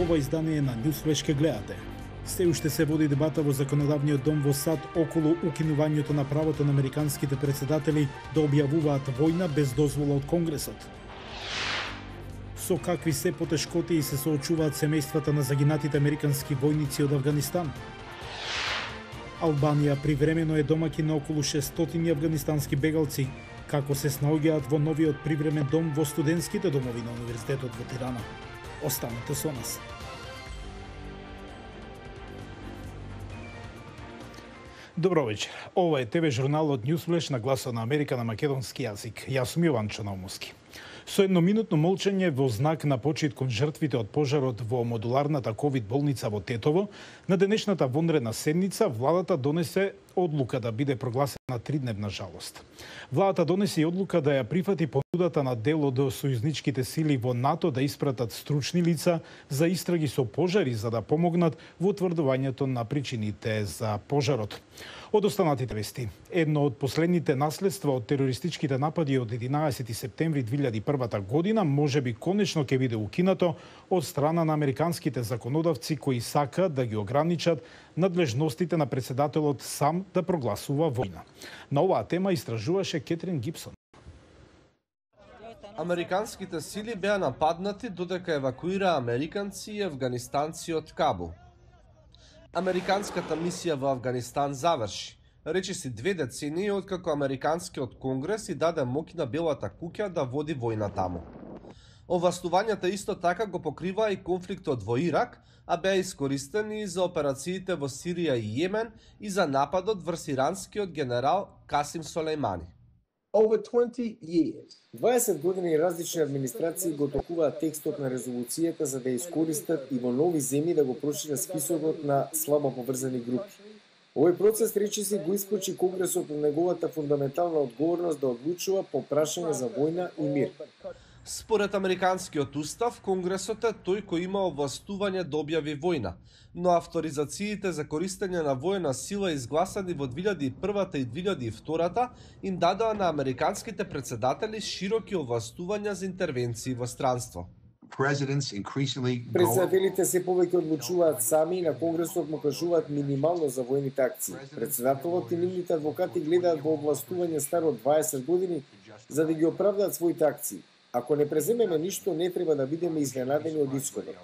ова издание на Newsflash ке гледате. Се уште се води дебата во законодавниот дом во САД околу укинувањето на правото на американските претседатели да објавуваат војна без дозвола од Конгресот. Со какви се потешкоти се соочуваат семејствата на загинатите американски војници од Авганистан. Албанија привремено е домаќин на околу 600 авганистански бегалци, како се снаоѓаат во новиот привремен дом во студентските домови на Универзитетот во Тирана. Останете со нас. Добро вечер. Ова е ТВ журналот Newsflash на Гласот на Америка на македонски јазик. Јас сум Јован Чонаумовски. Со едноминутно молчење во знак на почит кон жртвите од пожарот во модуларната ковид болница во Тетово, на денешната вонредна седница владата донесе одлука да биде прогласена 3-дневна жалост. Владата донесе и одлука да ја прифати понудата на дел од сојузничките сили во НАТО да испратат стручни лица за истраги со пожари за да помогнат во утврдувањето на причините за пожарот. Од останатите вести, едно од последните наследства од терористичките напади од 11 септември 2001 година можеби конечно ќе биде укинато од страна на американските законодавци кои сакаат да ги ограничат надлежностите на претседателот сам да прогласува војна. На оваа тема истражуваше Кетрин Гибсон. Американските сили беа нападнати додека евакуираа американци и афганистанци од Кабул. Американската мисија во Авганистан заврши. Речиси 2 децении откако Американскиот конгрес и даде моќ на Белата куќа да води војна таму. Овластувањата исто така го покриваа и конфликтот во Ирак, а беа искористени и за операциите во Сирија и Јемен и за нападот врз иранскиот генерал Касим Солејмани. 20 години различни администрации го токуваат текстот на резолуцијата за да искористат и во нови земји да го прошират списокот на слабо поврзани групи. Овој процес речиси го исклучи Конгресот од неговата фундаментална одговорност да одлучува по прашање за војна и мир. Според американскиот устав, Конгресот е тој кој има овластување да објави војна, но авторизациите за користење на војна сила изгласани во 2001 и 2002 им дадоа на американските претседатели широки овластувања за интервенции во странство. Претседателите се повеќе одлучуваат сами и на Конгресот му кажуваат минимално за војните акции. Претседателот и нивните адвокати гледаат во овластување старо 20 години за да ги оправдаат своите акции. Ако не преземеме ништо, не треба да бидеме изненадени од исходот.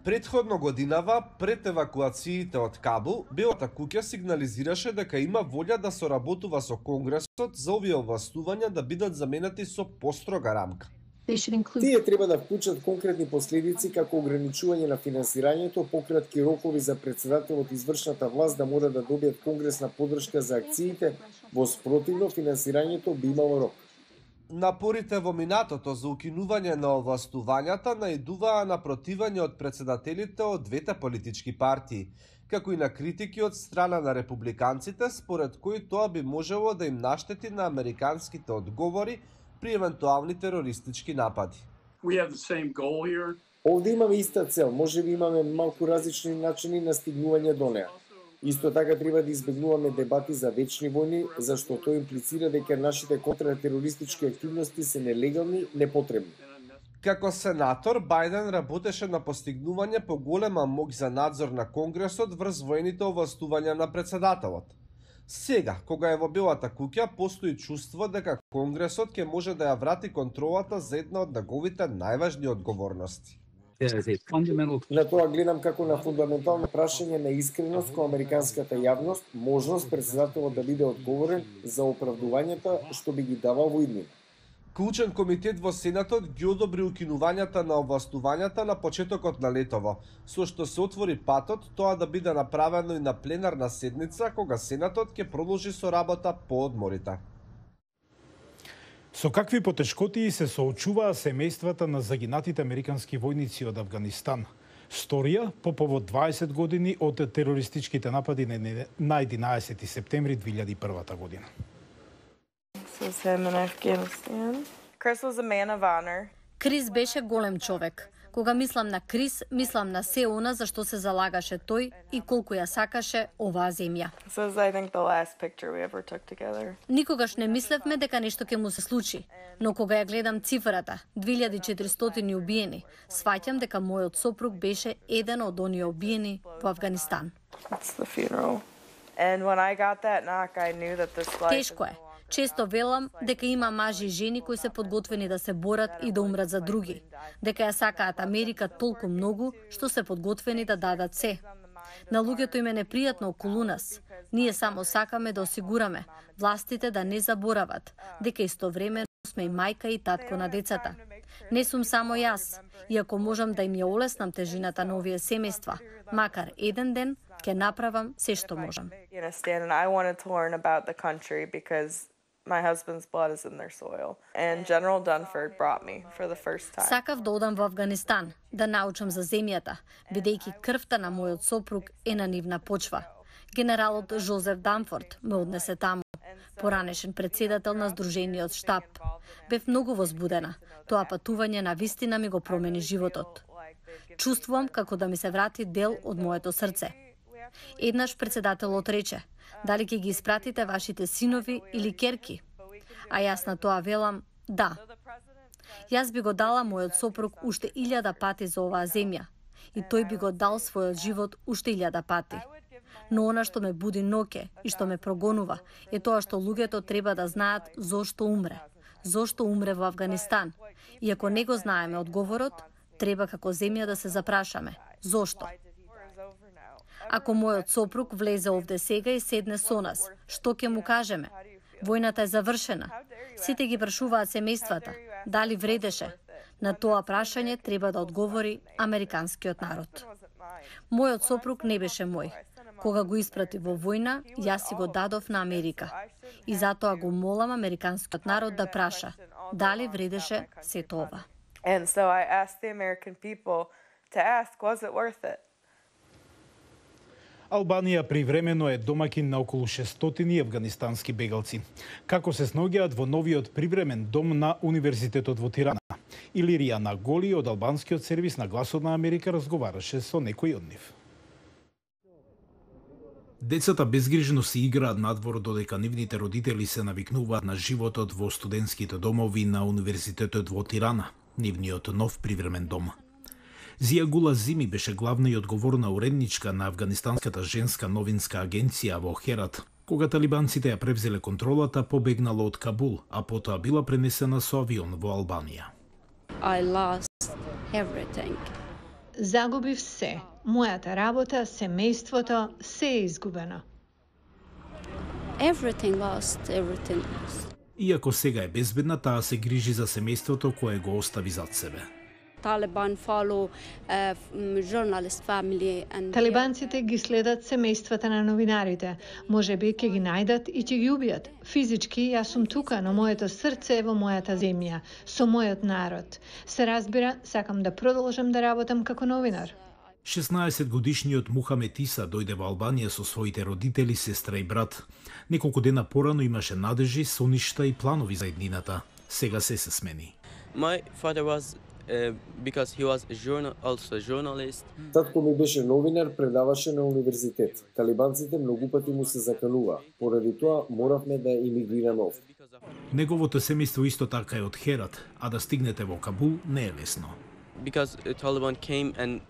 Предходно годинава, пред евакуациите од Кабул, Белата куќа сигнализираше дека има волја да соработува со Конгресот за овие овластувања да бидат заменети со построга рамка. Тие треба да вклучат конкретни последици како ограничување на финансирањето, пократки рокови за претседателот и извршната власт да мора да добијат конгресна поддршка за акциите, во спротивно финансирањето би имало рок. Напорите во минатото за укинување на овластувањата наидуваа на противање од претседателите од двете политички партии, како и на критики од страна на републиканците, според кои тоа би можело да им наштети на американските одговори при евентуални терористички напади. Овде имаме иста цел, можеби имаме малку различни начини на стигнување до неа. Исто така треба да избегнуваме дебати за вечни војни, зашто тоа имплицира дека нашите контратерористички активности се нелегални, непотребни. Како сенатор, Бајден работеше на постигнување поголема моќ за надзор на Конгресот врз војните овластувања на претседателот. Сега, кога е во Белата куќа, постои чувство дека Конгресот ќе може да ја врати контролата за една од неговите најважни одговорности. На тоа гледам како на фундаментално прашање на искреност кон американската јавност, можност претседателот да биде одговорен за оправдувањата што би ги давал во иднина. Клучен комитет во Сенатот ги одобри укинувањата на овластувањата на почетокот на летово, со што се отвори патот тоа да биде направено и на пленарна седница кога Сенатот ќе продолжи со работа по одморите. Со какви потешкоти се соочуваа семејствата на загинатите американски војници од Авганистан? Сторија по повод 20 години од терористичките напади на 11 септември 2001 година. Крис беше голем човек. Кога мислам на Крис, мислам на се она за што се залагаше тој и колку ја сакаше оваа земја. Никогаш не мислевме дека нешто ќе му се случи, но кога ја гледам цифрата, 2400 убиени, сваќам дека мојот сопруг беше еден од оние убиени во Авганистан. Тешко е. Често велам дека има мажи и жени кои се подготвени да се борат и да умрат за други, дека ја сакаат Америка толку многу што се подготвени да дадат се. На луѓето им е непријатно околу нас. Ние само сакаме да осигураме властите да не заборават дека истовремено сме и мајка и татко на децата. Не сум само јас, иако можам да им ја олеснам тежината на овие семејства, макар еден ден ќе направам се што можам. My husband's blood is in their soil. And General Dunford brought me for the first time. Сакав да одам во Авганистан, да научам за земјата, бидејќи крвта на мојот сопруг е на нивна почва. Генералот Жозеф Данфорд ме однесе таму, поранешен председател на Сдружениот штаб. Бев многу возбудена. Тоа патување на вистина ми го промени животот. Чувствувам како да ми се врати дел од моето срце. Еднаш председателот рече: дали ќе ги испратите вашите синови или керки? А јас на тоа велам: да. Јас би го дала мојот сопруг уште 1000 пати за оваа земја и тој би го дал својот живот уште 1000 пати. Но она што ме буди ноќе и што ме прогонува е тоа што луѓето треба да знаат зошто умре. Зошто умре во Авганистан? И ако не го знаеме одговорот, треба како земја да се запрашаме. Зошто? Ако мојот сопруг влезе овде сега и седне со нас, што ќе му кажеме? Војната е завршена. Сите ги прашуваат семејствата. Дали вредеше? На тоа прашање треба да одговори американскиот народ. Мојот сопруг не беше мој. Кога го испрати во војна, јас си го дадов на Америка. И затоа го молам американскиот народ да праша дали вредеше сето ова. And so I asked the American people to ask, was it worth it? Албанија привремено е домаќин на околу 600 авганистански бегалци. Како се снаоѓаат во новиот привремен дом на Универзитетот во Тирана? Илирија Наголи од албанскиот сервис на Гласот на Америка разговараше со некој од нив. Децата безгрижно си играат надвор додека нивните родители се навикнуваат на животот во студентските домови на Универзитетот во Тирана, нивниот нов привремен дом. Зија Гула Зими беше главна и одговорна уредничка на Авганистанската женска новинска агенција во Херат. Кога талибанците ја превзеле контролата, побегнала од Кабул, а потоа била пренесена со авион во Албанија. I lost everything. Загубив се. Мојата работа, семејството, се е изгубено. Everything lost. Иако сега е безбедна, таа се грижи за семејството кое го остави зад себе. Талибанците ги следат семејствата на новинарите. Можеби ќе ги најдат и ќе ги убијат. Физички јас сум тука, но моето срце е во мојата земја, со мојот народ. Се разбира, сакам да продолжам да работам како новинар. 16-годишниот Мухамед Иса дојде во Албанија со своите родители, сестра и брат. Неколку дена порано имаше надежи, соништа и планови за еднината. Сега се смени. My father was because he was also journalist. Татко ми беше новинар, предаваше на универзитет. Талибанците многу пати му се заканува. Поради тоа моравме да имигрираме овде. Неговото семејство исто така е од Херат, а да стигнете во Кабул не е лесно. Because Taliban came and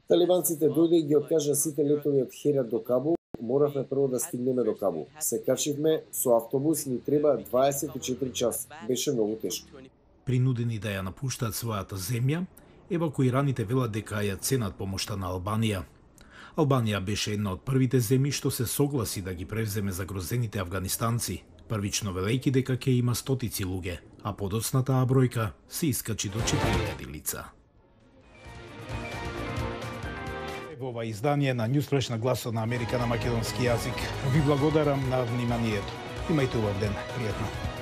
Талибанците дојде и ги откажа сите летови од Херат до Кабул. Моравме прво да стигнеме до Кабул. Се качивме со автобус, ни треба 24 часа. Беше многу тешко. Принудени да ја напуштаат својата земја, евакуираните велат дека ја ценат помошта на Албанија. Албанија беше една од првите земји што се согласи да ги превземе загрозените авганистанци, првично велејќи дека ќе има стотици луѓе, а подоцна таа бројка се искачи до 4000 лица. Во ова издание на Newsflash на Гласот на Америка на македонски јазик ви благодарам на вниманието. Имајте убав ден, пријатно.